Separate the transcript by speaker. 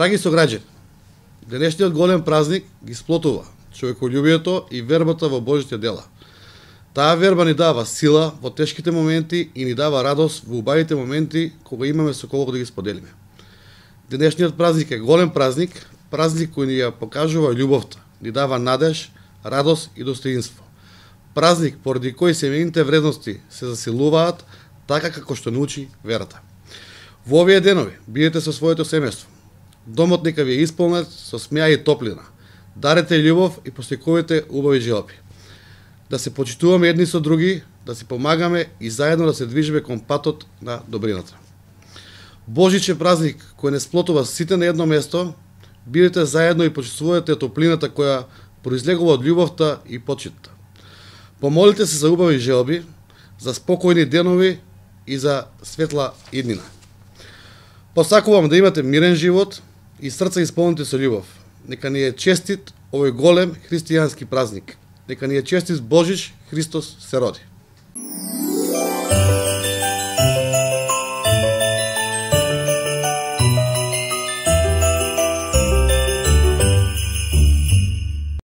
Speaker 1: Драги сограѓани, денешниот голем празник ги сплотува човеколюбието и вербата во Божите дела. Таа верба ни дава сила во тешките моменти и ни дава радост во убавите моменти кога имаме со кого да ги споделиме. Денешниот празник е голем празник, празник кој ни ја покажува љубовта, ни дава надеж, радост и достоинство. Празник поради кој семејните вредности се засилуваат така како што научи верата. Во овие денови бидете со своето семејство. Домот нека ви е исполнет со смеа и топлина. Дарете љубов и постекувате убави желби. Да се почитуваме едни со други, да си помагаме и заедно да се движиме кон патот на добрината. Божиче празник кој не сплотува сите на едно место, бидете заедно и почувствувате топлината која произлегува од љубовта и почитта. Помолите се за убави желби, за спокојни денови и за светла иднина. Посакувам да имате мирен живот и срца исполнети со љубов. Нека ни е честит овој голем христијански празник. Нека ни е честит Божич, Христос се роди.